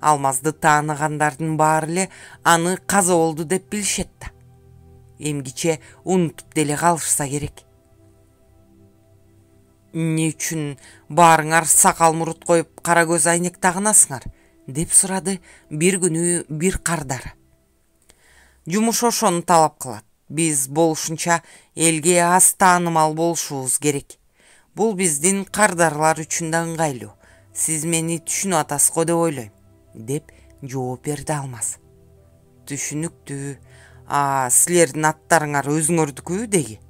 Алмазды тааныгандардын баары эле аны каза болду деп билишет да. Эмгиче унутуп деле калышса керек. Эмне үчүн баарыңар сакал мурут коюп кара көз айнек тагынасыңар? Деп сурады бир күнү бир кардары. Жумуш ошону талап кылат. Биз болушунча элге аз таанымал болушубуз керек. Бул биздин кардарлар үчүн да ыңгайлуу. Сиз мени түшүнүп атасыз го деп ойлойм, деп жооп берди Алмаз. Түшүнүктүү. Силердин аттарыңар өзүңөрдүкү деги?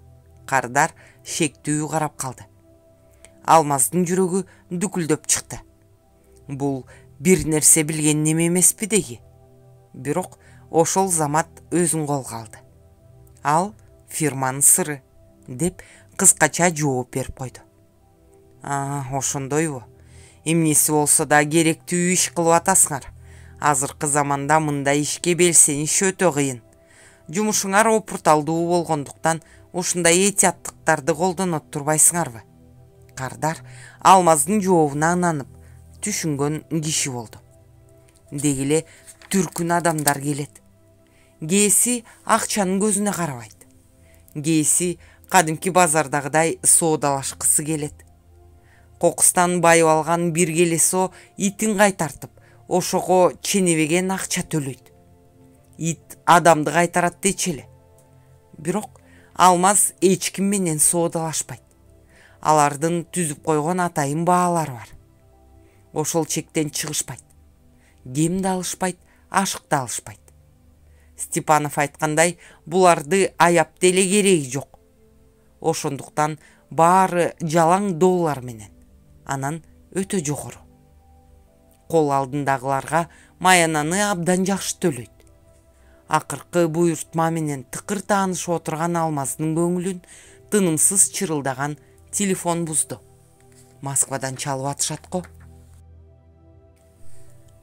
Кардар шектүү карап калды. Алмаздын жүрөгү дүкүлдөп чыкты. Бул бир нерсе билген неме эмеспи деги? Бирок ошол замат өзүн колго алды. Ал фирманын сыры, деп кыскача жооп берип койду. Ошондойбу. Эмнеси болсо да керектүү иш кылып атасыңар. Азыркы заманда мындай ишке белсениш өтө кыйын. Жумушуңар опурталдуу болгондуктан ушундай этияттыктарды колдонот турбайсыңарбы? Кардар Алмаздын жообуна ынанып, түшүнгөн киши болду. Деги эле түркүн адамдар келет. Кээси акчанын көзүнө карабайт. Кээси кадимки базардагыдай соодалашкысы келет. Кокустан байып алган бир келесо итин кайтартып, ошого ченебеген акча төлөйт. Ит адамды кайтарат дечи эле. Бирок Алмаз эч ким менен соодалашпайт. Алардын түзүп койгон атайын баалары бар. Ошол чектен чыгышпайт. Кем да алышпайт, ашык да алышпайт. Степанов айткандай, буларды аяп деле кереги жок. Ошондуктан баары жалаң доллар менен, анан өтө жогору. Кол алдындагыларга маянаны абдан жакшы төлөйт. Акыркы буйртма менен тыкыр таанышып отурган Алмаздын көңүлүн тынымсыз чырылдаган телефон бузду. Москвадан чалып атышат го.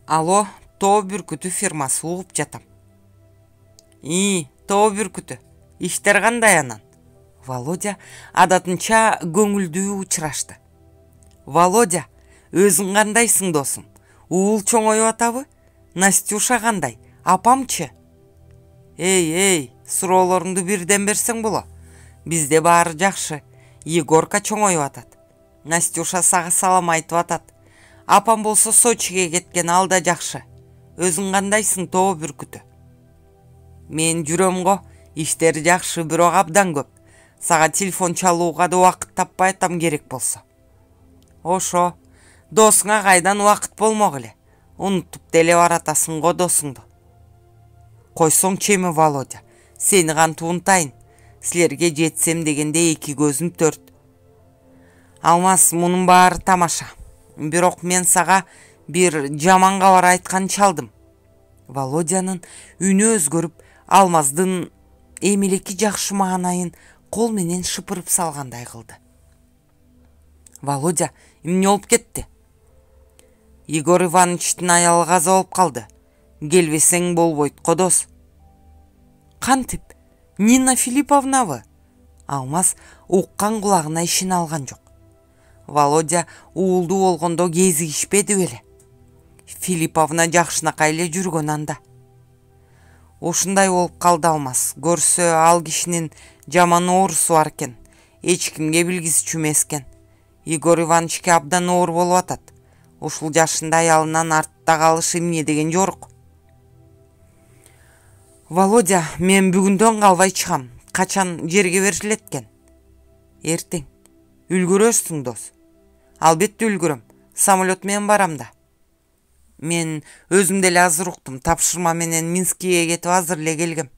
Алло, Тоо Бүркүтү фирмасы, угуп жатам. Тоо Бүркүтү, иштер кандай анан? Володя адатынча көңүлдүү учурашты. Володя, өзүң кандайсың досум? Уул чоңоюп атабы? Настюша кандай? Апамчы? Эй, суроолоруңду бирден берсең боло. Бизде баары жакшы. Егорка чоңоюп атат. Настюша сага салам айтып атат. Апам болсо Сочиге кеткен, ал да жакшы. Өзүң кандайсың, Тоо Бүркүтү? Мен жүрөм го, иштер жакшы, бирок абдан көп. Сага телефон чалууга да убакыт таппай атам керек болсо. Ошо, досуңа кайдан убакыт болмок эле. Унутуп деле баратасың го досуңду. Койсоң чеми Володя, сени кантип унутайын? Силерге жетсем дегенде эки көзүм төрт. Алмаз, мунун баары тамаша. Бирок мен сага бир жаман кабар айткан чалдым. Володянын үнү өзгөрүп, Алмаздын эмелеки жакшы маанайын кол менен шыпырып салгандай кылды. Володя, эмне болуп кетти? Егор Ивановичтин аялы каза болуп калды. Келбесең болбойт го дос. Кантип? Нина Филипповнабы? Алмаз уккан кулагына ишене алган жок. Володя уулду болгондо кезигишпеди беле? Филипповна жакшынакай эле жүргөн анда. Ушундай болуп калды Алмаз. Көрсө ал кишинин жаман оорусу бар экен. Эч кимге билгизчү эмес экен. Егор Ивановичке абдан оор болуп атат. Ушул жашында аялынан артта калыш эмне деген жорук. Володя, мен бүгүндөн калбай чыгам. Качан жерге берилет экен? Эртең. Үлгүрөсүң дос. Албетте үлгүрөм. Самолет менен барам да. Мен өзүм деле азыр уктум. Тапшырма менен Минскиге кетип азыр эле келгем.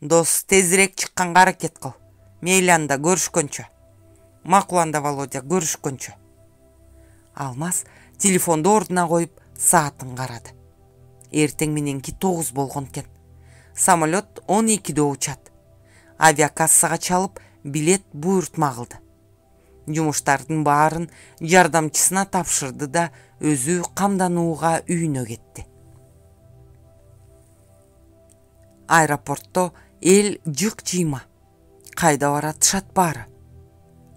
Дос, тезирээк чыкканга аракет кыл. Мейли анда, көрүшкөнчө. Макул анда, Володя, көрүшкөнчө. Алмаз телефонду ордуна коюп саатын карады. Эртең мененки 9 болгон экен. Самолет 12'de учат. Авиакассага чалып, билет буйртма кылды. Жумуштардын баарын жардамчысына тапшырды да өзү камданууга үйүнө кетти. Аэропортто эл жык-жыйма. Кайда баратышат баары?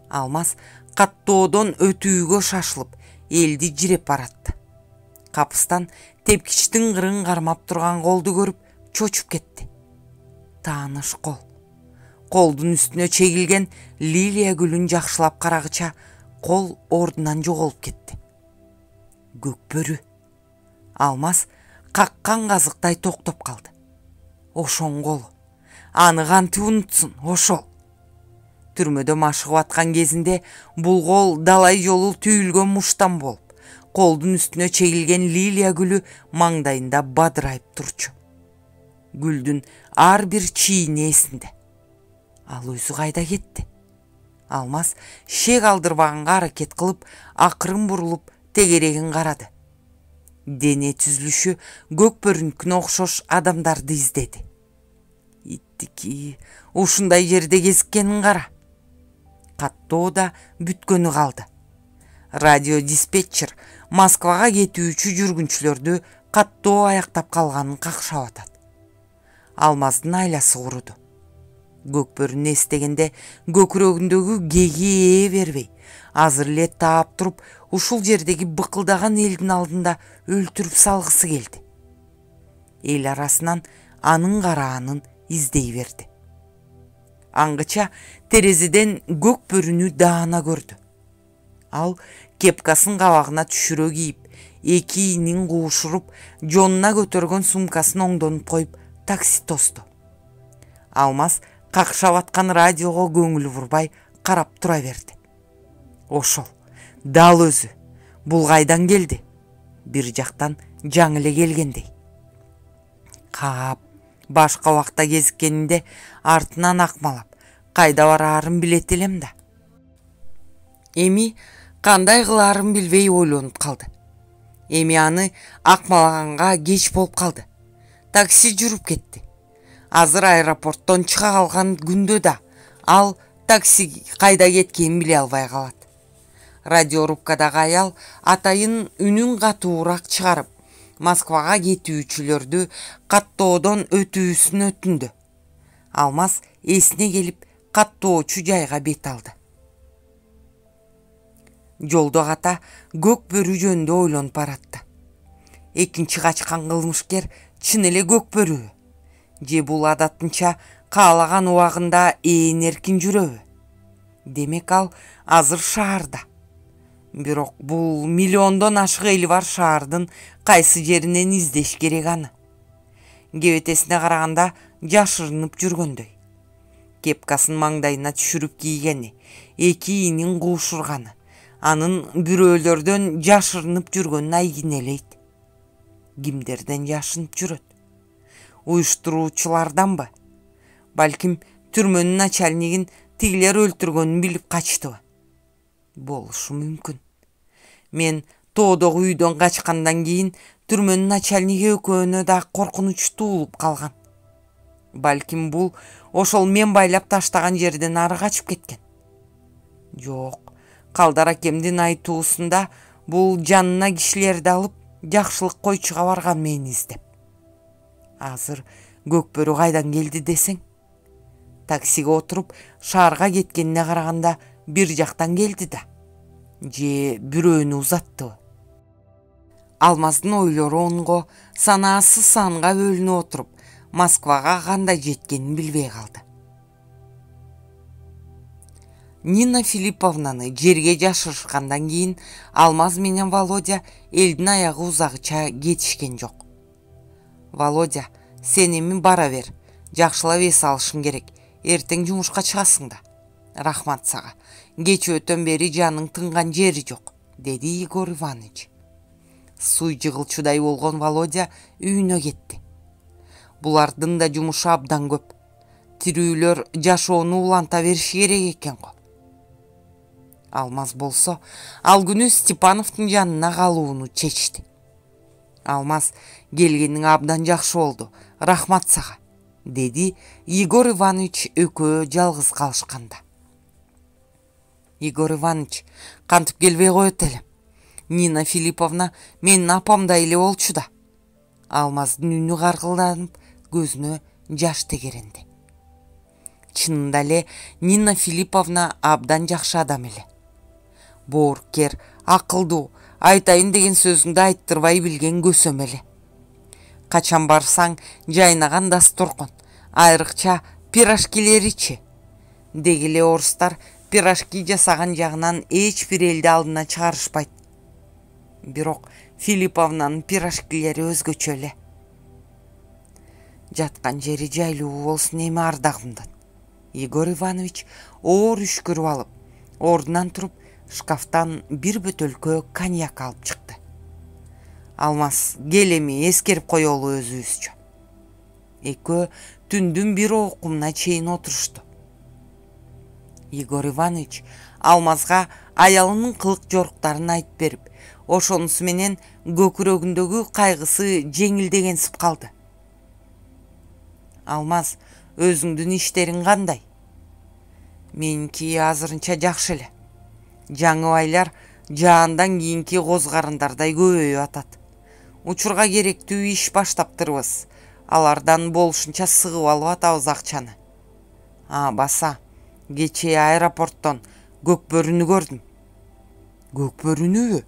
Алмаз каттоодон өтүүгө шашылып, элди жиреп баратты. Капыстан тепкичтин кырын кармап турган колду көрүп чочуп кетти. Тааныш кол. Колдун үстүнө чегилген лилия гүлүн жакшылап карагыча кол ордунан жоголуп кетти. Көкбөрү. Алмаз каккан казыктай токтоп калды. Ошоң колу. Аны кантип унутсун, ошол. Түрмөдө машыгып аткан кезинде бул кол далай жолу түйүлгөн муштан болуп, колдун үстүнө чегилген лилия гүлү маңдайында бадырайып турчу. Гүлдүн ар бир чийини эсинде. Ал өзү кайда кетти? Алмаз шек алдырбаганга аракет кылып, акырын бурулуп, тегерегин карады. Дене түзүлүшү Көкбөрүнүкүнө окшош адамдарды издеди. Иттики, ушундай жерде кезиккенин кара. Каттоо да бүткөнү калды. Радиодиспетчер Москвага кетүүчү жүргүнчүлөрдү каттоо аяктап калганын какшап атат. Алмаздын айласы куруду. Көкбөрүнү эстегенде көкүрөгүндөгү кеги ээ бербей, азыр эле таап туруп, ушул жердеги быкылдаган элдин алдында өлтүрүп салгысы келди. Эл арасынан анын караанын издей берди. Аңгыча терезеден Көкбөрүнү даана көрдү. Ал кепкасын кабагына түшүрө кийип, эки ийнин куушуруп, жонуна көтөргөн сумкасын оңдонуп коюп, такси тосту. Алмаз какшап аткан радиого көңүлү бурбай карап тура берди. Ошол, дал өзү. Бул кайдан келди? Бир жактан жаңы эле келгендей. Кап, башка убакта кезиккенинде артынан акмалап, кайда бараарын билет элем да. Эми кандай кылаарын билбей ойлонуп калды. Эми аны акмалаганга кеч болуп калды. Такси жүрүп кетти. Азыр аэропорттон чыга калган күндө да ал такси кайда кеткенин биле албай калат. Радиорубкадагы аял атайын үнүн катуураак чыгарып, Москвага кетүүчүлөрдү каттоодон өтүүсүн өтүндү. Алмаз эсине келип, каттоочу жайга бет алды. Жолдо ката Көкбөрү жөнүндө ойлонуп баратты. Экинчи качкан кылмышкер чын эле Көкбөрүбү? Же бул адатынча каалаган убагында ээн эркин жүрөбү? Демек ал азыр шаарда. Бирок бул миллиондон ашык эли бар шаардын кайсы жеринен издеш керек аны? Кебетесине караганда жашырынып жүргөндөй. Кепкасын маңдайына түшүрүп кийгени, эки ийнин куушурганы, анын бирөөлөрдөн жашырынып жүргөнүн айгинелейт. Кимдерден жашынып жүрөт? Уюштуруучуларданбы? Балким түрмөнүн начальнигин тигилер өлтүргөнүн билип качтыбы? Болушу мүмкүн. Мен тоодогу үйдөн качкандан кийин түрмөнүн начальниги экөөнө да коркунуч туулуп калган. Балким бул ошол мен байлап таштаган жерден ары качып кеткен. Жок, Калдар акемдин айтуусунда бул жанына кишилерди алып жакшылык койчуга барган мени издеп. Азыр Көкбөрү кайдан келди десең? Таксиге отуруп шаарга кеткенине караганда бир жактан келди да. Же бирөөнү узаттыбы? Алмаздын ойлору онго санаасы санга бөлүнүп отуруп, Москвага кандай жеткенин билбей калды. Нина Филипповнаны жерге жашырышкандан кийин Алмаз менен Володя элдин аягы узагыча кетишкен жок. Володя, сен эми бара бер. Жакшылап эс алышың керек. Эртең жумушка чыгасың да. Рахмат сага. Кече өтөн бери жаның тынган жери жок, деди Егор Иванович. Суу жыгылчудай болгон Володя үйүнө кетти. Булардын да жумушу абдан көп. Тирүүлөр жашоону уланта бериши керек экен го. Алмаз болсо ал күнү Степановдун жанына калууну чечти. Алмаз келгениң абдан жакшы болду. Рахмат сага, деди Егор Иванович экөө жалгыз калышканда. Егор Иванович, кантип келбей коет элем. Нина Филипповна менин апамдай эле болчу да. Алмаздын үнү каргылданып, көзүнө жаш тегеренди. Чынында эле Нина Филипповна абдан жакшы адам эле. Боорукер, акылдуу, айтайын деген сөзүңдү айттырбай билген көсөм эле. Качан барсаң жайнаган дасторкон, айрыкча пирожкилеричи. Деги эле орустар пирожки жасаган жагынан эч бир элди алдына чыгарышпайт. Бирок Филипповнанын пирожкилери өзгөчө эле. Жаткан жери жайлуу болсун эми ардагымдан. Егор Иванович оор үшкүрүп алып, ордунан туруп, шкафтан бир бөтөлкө коньяк алып чыкты. Алмаз, кел эми эскерип коелу өзүбүзчө. Экөө түндүн бир окумуна чейин отурушту. Егор Иванович Алмазга аялынын кылык жоруктарын айтып берип, ошонусу менен көкүрөгүндөгү кайгысы жеңилдегенсип калды. Алмаз, өзүңдүн иштериң кандай? Меники азырынча жакшы эле. Жаңыбайлар жаандан кийинки козгарындардай көбөйүп атат. Учурга керектүү иш баштаптырбыз. Алардан болушунча сыгып алып атабыз акчаны. Баса, кечээ аэропорттон көк бөрүнү көрдүм. Көк бөрүнүбү?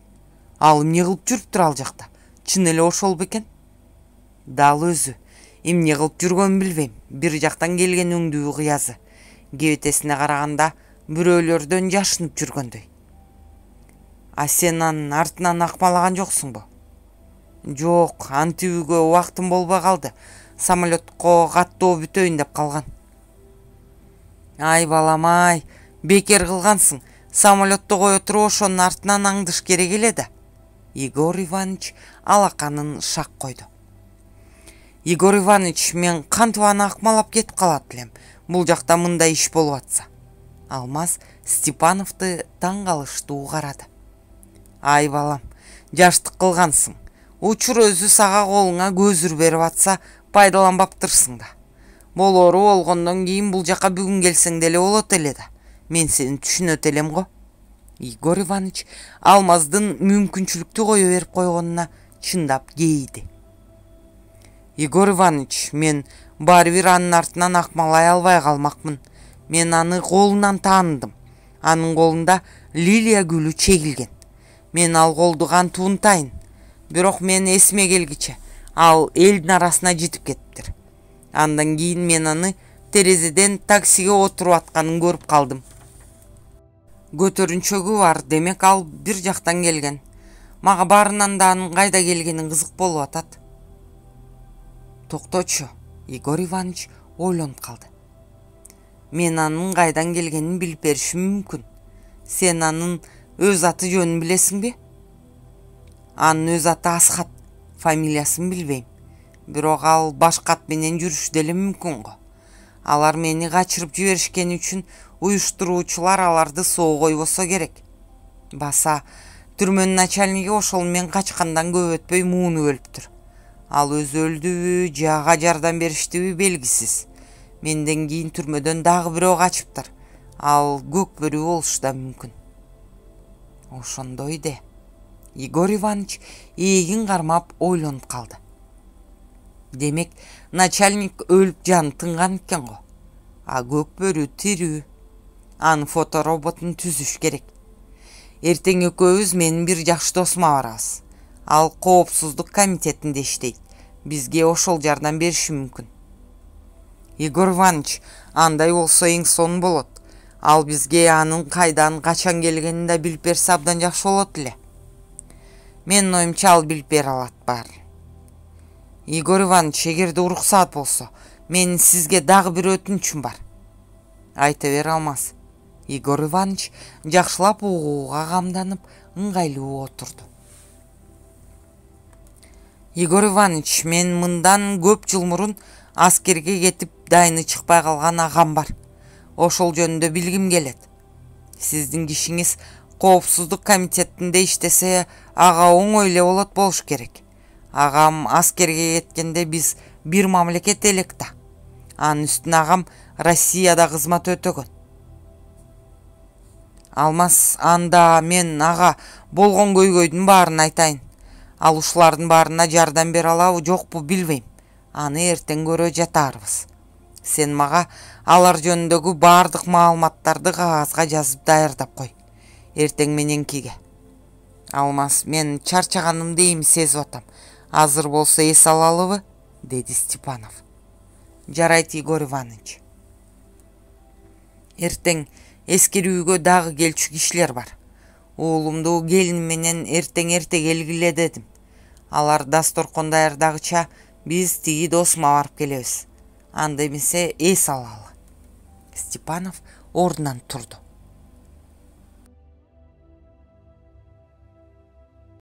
Ал эмне кылып жүрүптүр ал жакта? Чын эле ошол бекен? Дал өзү. Эмне кылып жүргөнүн билбейм. Бир жактан келген өңдүү кыязы. Кебетесине караганда бирөөлөрдөн жашынып жүргөндөй. Сен анын артынан акмалаган жоксуңбу? Жок, антибүүгө убактым болбой калды. Самолетко каттоо бүтөйүн деп калган. Ай балам, бекер кылгансың. Самолетто кое туруп ошонун артынан аңдыш керек эле да. Егор Иванович алаканын шак койду. Егор Иванович, мен кантип аны акмалап кетип калат элем. Бул жакта мындай иш болуп атса. Алмаз Степановду таң калыштуу карады. Ай балам, жаштык кылгансың. Учур өзү сага колуңа көзүр берип атса, пайдаланбаптырсың да. Болору болгондон кийин бул жака бүгүн келсең деле болот эле да. Мен сени түшүнөт элем го. Егор Иванович Алмаздын мүмкүнчүлүктү кое берип койгонуна чындап кейиди. Егор Иванович, мен баары бир анын артынан акмалай албай калмакмын. Мен аны колунан тааныдым. Анын колунда лилия гүлү чегилген. Мен ал колду кантип унутайын? Бирок мен эсиме келгиче ал элдин арасына жетип кетиптир. Андан кийин мен аны терезеден таксиге отуруп атканын көрүп калдым. Көтөрүнчөгү бар, демек ал бир жактан келген. Мага баарынан да анын кайда келгени кызык болуп атат. Токточу, Егор Иванович ойлонуп калды. Мен анын кайдан келгенин билип беришим мүмкүн. Сен анын өз аты жөнүн билесиңби? Анын өз аты Асхат, фамилиясын билбейм. Бирок ал башка ат менен жүрүшү деле мүмкүн го. Алар мени качырып жиберишкени үчүн уюштуруучулар аларды соо койбосо керек. Баса, түрмөнүн начальниги ошол мен качкандан көп өтпөй мууну өлүптүр. Ал өзү өлдүбү, же ага жардам бериштиби белгисиз. Менден кийин түрмөдөн дагы бирөө качыптыр. Ал Көкбөрү болушу да мүмкүн. Ошондой де. Егор Иванович ээгин кармап ойлонуп калды. Демек, начальник өлүп жаны тынган экен го. Көкбөрү тирүү. Анын фотороботун түзүш керек. Эртең экөөбүз менин бир жакшы досума барабыз. Ал коопсуздук комитетинде иштейт. Бизге ошол жардам бериши мүмкүн. Егор Иванович, андай болсо эң сонун болот. Ал бизге анын кайдан, качан келгенин да билип берсе абдан жакшы болот эле. Менин оюмча ал билип бере алат баарын. Егор Иванович, эгерде уруксаат болсо, менин сизге дагы бир өтүнүчүм бар. Айта бер, Алмаз. Егор Иванович жакшылап угууга камданып, ыңгайлуу отурду. Егор Иванович, мен мындан көп жыл мурун аскерге кетип дайыны чыкпай калган агам бар. Ошол жөнүндө билгим келет. Сиздин кишиңиз коопсуздук комитетинде иштесе, ага оңой эле болуш керек. Агам аскерге кеткенде биз бир мамлекет элек да. Анын үстүнө агам Россияда кызмат өтөгөн. Алмаз, анда мен ага болгон көйгөйдүн баарын айтайын. Ал ушулардын баарына жардам бере алабы, жокпу билбейм. Аны эртең көрө жатарбыз. Сен мага алар жөнүндөгү баардык маалыматтарды кагазга жазып даярдап кой. Эртең мененкиге. Алмаз, мен чарчаганымды эми сезип атам. Азыр болсо эс алалыбы? Деди Степанов. Жарайт, Егор Иванович. Эртең эскерүүгө дагы келчү кишилер бар. Уулумду келиним менен эртең эрте келгиле дедим. Алар дасторкон даярдагыча биз тиги досума барып келебиз. Анда эмесе эс алалы. Степанов ордунан турду.